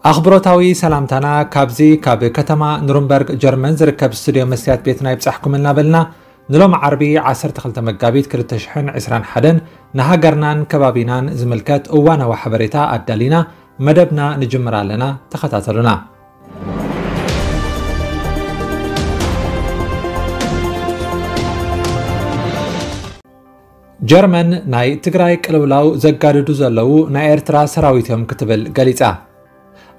ኣኽብሮታዊ ሰላምታና ካብዚ ካብ ከተማ ኑርንበርግ ጀርመን ዝርከብ ስቱድዮ መስትያት ቤትና ይብጻሕኩም እናበልና፣ ንሎም ዓርቢ ዓሰርተ ክልተ መጋቢት ክልተ ሽሕን ዕስራን ሓደን ንሃገርናን ከባቢናን ዝምልከት እዋናዊ ሓበሬታ ኣዳሊና መደብና ንጅምር ኣለና። ተኸታተሉና። ጀርመን ናይ ትግራይ ቅልውላው ዘጋድዱ ዘለዉ ናይ ኤርትራ ሰራዊት እዮም ክትብል ገሊጻ።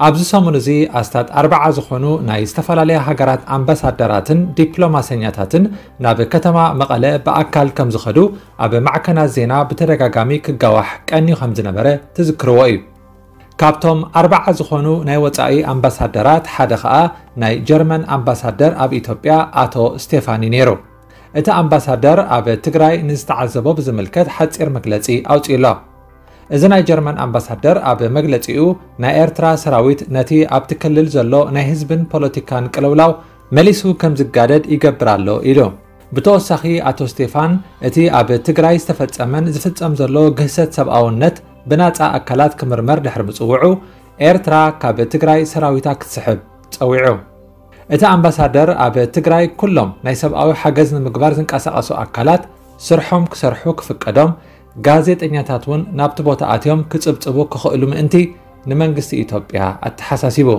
ኣብዚ ሰሙን እዚ ኣስታት ኣርባዓ ዝኾኑ ናይ ዝተፈላለያ ሃገራት ኣምባሳደራትን ዲፕሎማሰኛታትን ናብ ከተማ መቐለ ብኣካል ከም ዝኸዱ ኣብ ማዕከናት ዜና ብተደጋጋሚ ክጋዋሕ ቀንዩ ከም ዝነበረ ትዝክርዎ እዩ። ካብቶም ኣርባዓ ዝኾኑ ናይ ወጻኢ ኣምባሳደራት ሓደ ኸኣ ናይ ጀርመን ኣምባሳደር ኣብ ኢትዮጵያ ኣቶ ስቴፋን እዩ ነይሩ። እቲ ኣምባሳደር ኣብ ትግራይ ንዝተዓዘቦ ብዝምልከት ሓጺር መግለጺ ኣውጺኡ ኣሎ። እዚ ናይ ጀርመን ኣምባሳደር ኣብ መግለጺኡ፣ ናይ ኤርትራ ሰራዊት ነቲ ኣብቲ ክልል ዘሎ ናይ ህዝብን ፖለቲካን ቅልውላው መሊሱ ከም ዝጋደድ ይገብር ኣሎ ኢሉ። ብተወሳኺ ኣቶ ስቴፋን፣ እቲ ኣብ ትግራይ ዝተፈጸመን ዝፍጸም ዘሎ ግህሰት ሰብኣውነት ብናጻ ኣካላት ክምርመር ድሕሪ ምጽውዑ፣ ኤርትራ ካብ ትግራይ ሰራዊታ ክትስሕብ ጸዊዑ። እቲ ኣምባሳደር ኣብ ትግራይ ኩሎም ናይ ሰብኣዊ ሓገዝ ንምግባር ዝንቀሳቐሱ ኣካላት ስርሖም ክሰርሑ ክፍቀዶም፣ ጋዜጠኛታት እውን ናብቲ ቦታ ኣትዮም ክጽብጽቡ ክኽእሉ ምእንቲ ንመንግስቲ ኢትዮጵያ ኣተሓሳሲቡ።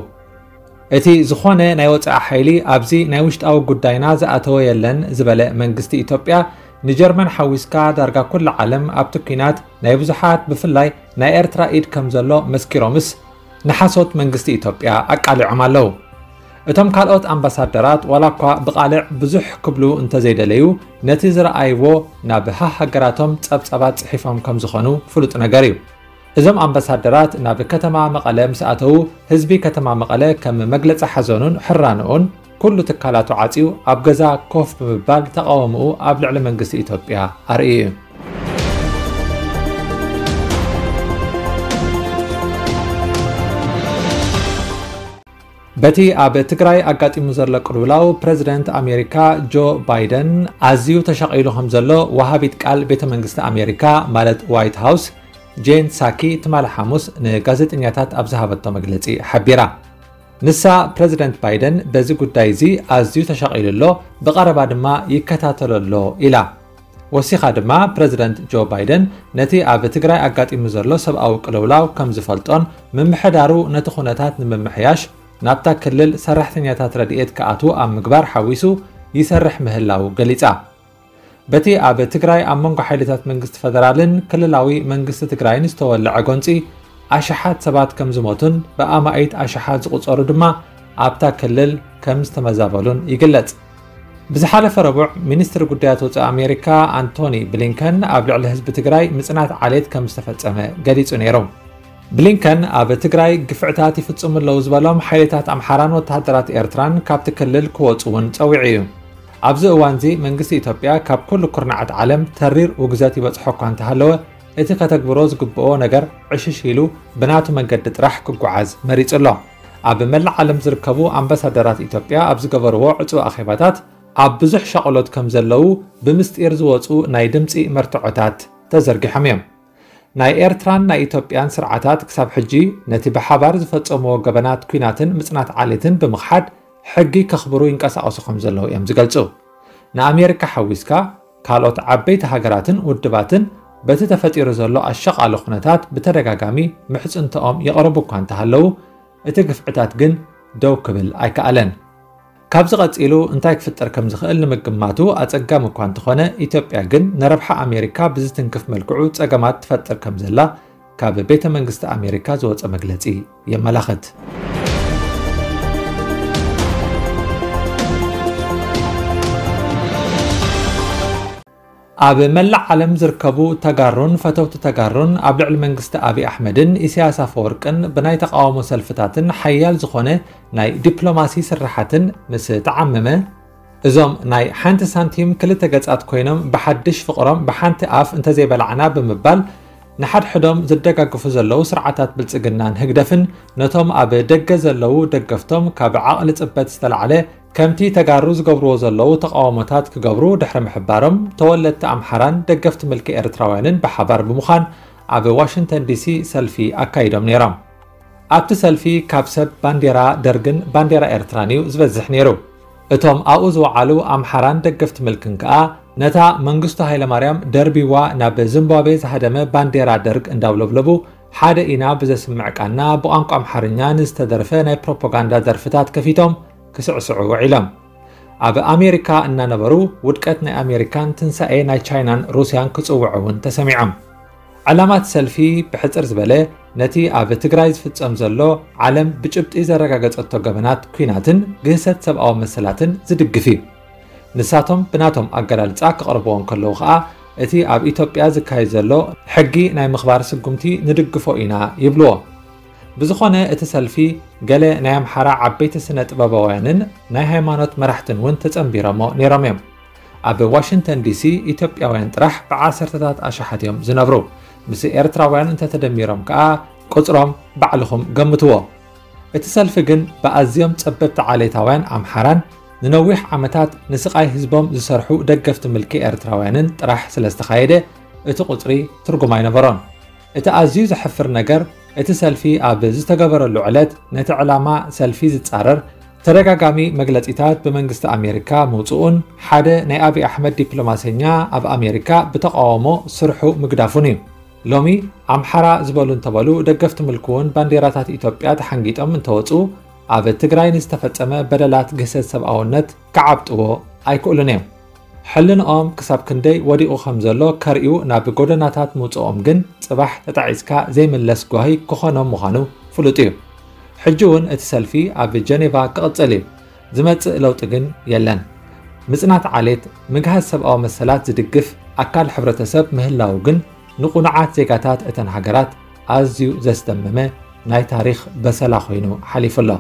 እቲ ዝኾነ ናይ ወጻኢ ሓይሊ ኣብዚ ናይ ውሽጣዊ ጉዳይና ዝኣተወ የለን ዝበለ መንግስቲ ኢትዮጵያ፣ ንጀርመን ሓዊስካ ዳርጋ ኩላ ዓለም ኣብቲ ኲናት ናይ ብዙሓት ብፍላይ ናይ ኤርትራ ኢድ ከም ዘሎ መስኪሮምስ ንሓሶት መንግስቲ ኢትዮጵያ ኣቃሊዖም ኣለዉ። እቶም ካልኦት ኣምባሳደራት ዋላ እኳ ብቓልዕ ብዙሕ ክብሉ እንተዘይደለዩ፣ ነቲ ዝረኣይዎ ናብ ሃሃገራቶም ጸብጻባት ጽሒፎም ከም ዝኾኑ ፍሉጥ ነገር እዩ። እዞም ኣምባሳደራት ናብ ከተማ መቐለ ምስ ኣተዉ፣ ህዝቢ ከተማ መቐለ ከም መግለጺ ሓዘኑን ሕራንኡን ኩሉ ትካላቱ ዓጽዩ ኣብ ገዛ ኮፍ ብምባል ተቓውምኡ ኣብ ልዕሊ መንግስቲ ኢትዮጵያ ኣርእዩ እዩ። በቲ ኣብ ትግራይ ኣጋጢሙ ዘሎ ቅልውላው፣ ፕረዚደንት ኣሜሪካ ጆ ባይደን ኣዝዩ ተሻቒሉ ከም ዘሎ ወሃቢት ቃል ቤተ መንግስቲ ኣሜሪካ፣ ማለት ዋይት ሃውስ፣ ጄን ሳኪ፣ ትማሊ ሓሙስ ንጋዜጠኛታት ኣብ ዝሃበቶ መግለጺ ሓቢራ። ንሳ፣ ፕረዚደንት ባይደን በዚ ጉዳይ እዚ ኣዝዩ ተሻቒሉ ኣሎ፣ ብቐረባ ድማ ይከታተሎ ኣሎ ኢላ። ወሲኻ ድማ፣ ፕረዚደንት ጆ ባይደን ነቲ ኣብ ትግራይ ኣጋጢሙ ዘሎ ሰብኣዊ ቅልውላው ከም ዝፈልጦን፣ ምምሕዳሩ ነቲ ኩነታት ንምምሕያሽ ናብታ ክልል ሰራሕተኛታት ረድኤት ክኣትዉ ኣብ ምግባር ሓዊሱ ይሰርሕ ምህላዉ ገሊጻ። በቲ ኣብ ትግራይ ኣብ መንጎ ሓይልታት መንግስቲ ፈደራልን ክልላዊ መንግስቲ ትግራይን ዝተወለዐ ጎንጺ ኣሽሓት ሰባት ከም ዝሞቱን ብኣማኢት ኣሽሓት ዝቑጸሩ ድማ ኣብታ ክልል ከም ዝተመዛበሉን ይግለጽ። ብዝሓለፈ ረቡዕ፣ ሚኒስትሪ ጉዳያት ወጻኢ ኣሜሪካ ኣንቶኒ ብሊንከን ኣብ ልዕሊ ህዝቢ ትግራይ ምጽናት ዓሌት ከም ዝተፈጸመ ገሊጹ ነይሩ። ብሊንከን ኣብ ትግራይ ግፍዕታት ይፍጽሙ ኣለዉ ዝበሎም ሓይልታት ኣምሓራን ወተሃደራት ኤርትራን ካብቲ ክልል ክወጹ እውን ጸዊዑ እዩ። ኣብዚ እዋንዚ መንግስቲ ኢትዮጵያ ካብ ኩሉ ኩርናዓት ዓለም ተሪር ውግዘት ይበጽሖ እኳ እንተሃለወ፣ እቲ ከተግብሮ ዝግብኦ ነገር ዕሽሽ ኢሉ ብናቱ መንገዲ ጥራሕ ክጓዓዝ መሪጹ ኣሎ። ኣብ መላእ ዓለም ዝርከቡ ኣምባሳደራት ኢትዮጵያ ኣብ ዝገበርዎ ዕጹው ኣኼባታት፣ ኣብ ብዙሕ ሻቕሎት ከም ዘለዉ ብምስጢር ዝወጹ ናይ ድምጺ መርትዖታት ተዘርጊሖም እዮም። ናይ ኤርትራን ናይ ኢትዮጵያን ስርዓታት ክሳብ ሕጂ ነቲ ብሓባር ዝፈጸምዎ ገበናት ኲናትን ምጽናት ዓሌትን ብምኽሓድ ሕጊ ከኽብሩ ይንቀሳቐሱ ከም ዘለዉ እዮም ዝገልጹ። ንኣሜሪካ ሓዊስካ ካልኦት ዓበይቲ ሃገራትን ውድባትን በቲ ተፈጢሩ ዘሎ ኣሸቓሊ ኩነታት ብተደጋጋሚ ምሕጽንትኦም የቕርቡ እኳ እንተሃለዉ፣ እቲ ግፍዕታት ግን ደው ክብል ኣይከኣለን። ካብዚ ቀጺሉ እንታይ ክፍጠር ከም ዝኽእል ንምግማቱ ኣጸጋሚ እኳ እንተኾነ፣ ኢትዮጵያ ግን ንረብሓ ኣሜሪካ ብዝትንክፍ መልክዑ ጸገማት ትፈጥር ከም ዘላ ካብ ቤተ መንግስቲ ኣሜሪካ ዝወጸ መግለጺ የመላኽት። ኣብ መላእ ዓለም ዝርከቡ ተጋሩን ፈተውቲ ተጋሩን ኣብ ልዕሊ መንግስቲ ኣብይ ኣሕመድን ኢሳያስ ኣፈወርቅን ብናይ ተቃውሞ ሰልፍታትን ሓያል ዝኾነ ናይ ዲፕሎማሲ ስርሓትን ምስ ተዓመመ፣ እዞም ናይ ሓንቲ ሳንቲም ክልተ ገጻት ኮይኖም ብሓድሽ ፍቕሮም ብሓንቲ ኣፍ እንተዘይበላዕና ብምባል ንሓድሕዶም ዝደጋግፉ ዘለዉ ስርዓታት ብልጽግናን ህግደፍን ነቶም ኣብ ደገ ዘለዉ ደገፍቶም ካብ ዓቕሊ ጽበት ዝተላዕለ ከምቲ ተጋሩ ዝገብርዎ ዘለዉ ተቃውሞታት ክገብሩ ድሕሪ ምሕባሮም፣ ተወለድቲ ኣምሓራን ደገፍቲ ምልኪ ኤርትራውያንን ብሓባር ብምዃን ኣብ ዋሽንግተን ዲሲ ሰልፊ ኣካይዶም ነይሮም። ኣብቲ ሰልፊ ካብ ሰብ ባንዴራ ደርግን ባንዴራ ኤርትራን እዩ ዝበዝሕ ነይሩ። እቶም ኣብኡ ዝወዓሉ ኣምሓራን ደገፍቲ ምልክን ከኣ ነታ መንግስቱ ሃይለማርያም ደርቢዋ ናብ ዝምባብዌ ዝሃደመ ባንዴራ ደርግ እንዳውለብለቡ ሓደ ኢና ብዘስምዕ ቃና ብቋንቋ ኣምሓርኛ ንዝተደርፈ ናይ ፕሮፓጋንዳ ደርፍታት ከፊቶም ክስዕስዑ ውዒሎም። ኣብ ኣሜሪካ እናነበሩ ውድቀት ናይ ኣሜሪካን ትንሳኤ ናይ ቻይናን ሩስያን ክጽውዑ እውን ተሰሚዖም። ዕላማት ሰልፊ ብሕጽር ዝበለ ነቲ ኣብ ትግራይ ዝፍጸም ዘሎ ዓለም ብጭብጢ ዘረጋገጸቶ ገበናት ኲናትን ግህሰት ሰብኣዊ መሰላትን ዝድግፍ እዩ። ንሳቶም ብናቶም ኣገላልጻ ክቕርብዎ እንከለዉ ኸኣ እቲ ኣብ ኢትዮጵያ ዝካየድ ዘሎ ሕጊ ናይ ምኽባር ስጉምቲ ንድግፎ ኢና ይብልዎ። ብዝኾነ እቲ ሰልፊ ገለ ናይ ኣምሓራ ዓበይቲ ስነ ጥበባውያንን ናይ ሃይማኖት መራሕትን እውን ተጸንቢሮሞ ነይሮም እዮም። ኣብ ዋሽንግተን ዲሲ ኢትዮጵያውያን ጥራሕ ብዓሰርተታት ኣሽሓት እዮም ዝነብሩ። ምስ ኤርትራውያን እንተተደሚሮም ከኣ ቁጽሮም ባዕልኹም ገምትዎ። እቲ ሰልፊ ግን ብኣዝዮም ጸበብቲ ዓሌታውያን ኣምሓራን ንነዊሕ ዓመታት ንስቓይ ህዝቦም ዝሰርሑ ደገፍቲ ምልኪ ኤርትራውያንን ጥራሕ ስለ ዝተኻየደ እቲ ቁጽሪ ትርጉም ኣይነበሮን። እቲ ኣዝዩ ዘሕፍር ነገር እቲ ሰልፊ ኣብ ዝተገበረሉ ዕለት ነቲ ዕላማ ሰልፊ ዝጻረር ተደጋጋሚ መግለጺታት ብመንግስቲ ኣሜሪካ ምውጽኡን ሓደ ናይ ኣብይ ኣሕመድ ዲፕሎማሰኛ ኣብ ኣሜሪካ ብተቓውሞ ስርሑ ምግዳፉን እዩ። ሎሚ ኣምሓራ ዝበሉ እንተበሉ ደገፍቲ ምልኪ እውን ባንዴራታት ኢትዮጵያ ተሓንጊጦም እንተወጹ ኣብ ትግራይ ንዝተፈጸመ በደላት ግህሰት ሰብኣውነት ክዓብጥዎ ኣይክእሉን እዮም። ሕልንኦም ክሳብ ክንደይ ወዲቑ ከም ዘሎ ከርእዩ ናብ ጎደናታት ምውጽኦም ግን ጽባሕ ተጣዒስካ ዘይምለስ ጓሂ ክኾኖም ምዃኑ ፍሉጥ እዩ። ሕጂ እውን እቲ ሰልፊ ኣብ ጀኔቫ ክቕጽል እዩ። ዝመጽእ ለውጢ ግን የለን። ምጽናት ዓሌት፣ ምግሃስ ሰብኣዊ መሰላት ዝድግፍ ኣካል ሕብረተሰብ ምህላው ግን ንቑኑዓት ዜጋታት እተን ሃገራት ኣዝዩ ዘስደመመ ናይ ታሪኽ በሰላ ኮይኑ ሓሊፉ ኣሎ።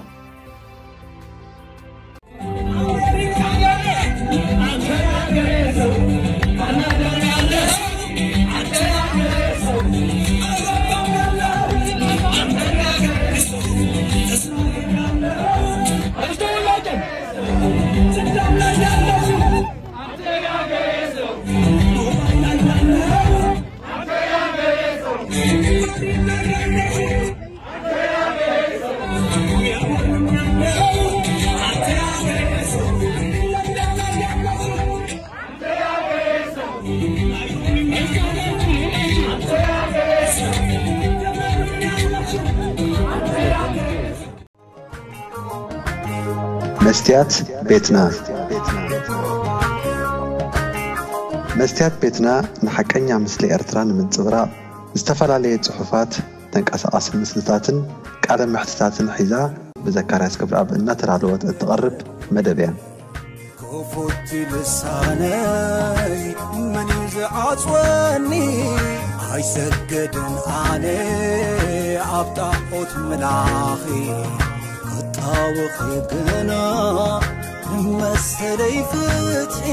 መስትያት ቤትና። መስትያት ቤትና ንሓቀኛ ምስሊ ኤርትራ ንምንጽብራቕ ዝተፈላለየ ጽሑፋት፣ ተንቀሳቓሲ ምስልታትን ቃለ መሕትታትን ሒዛ ብዘካርያስ ገብረኣብ እናተዳለወት እትቐርብ መደብ እያ። ክፉት ልሳነይ መን እዩ ዝዓጽወኒ? ኣይሰገድን ኣነ ኣብ ጣዖት ምላኺ፣ ክጣወኺ ግና ንመሰለይ ፍትሒ።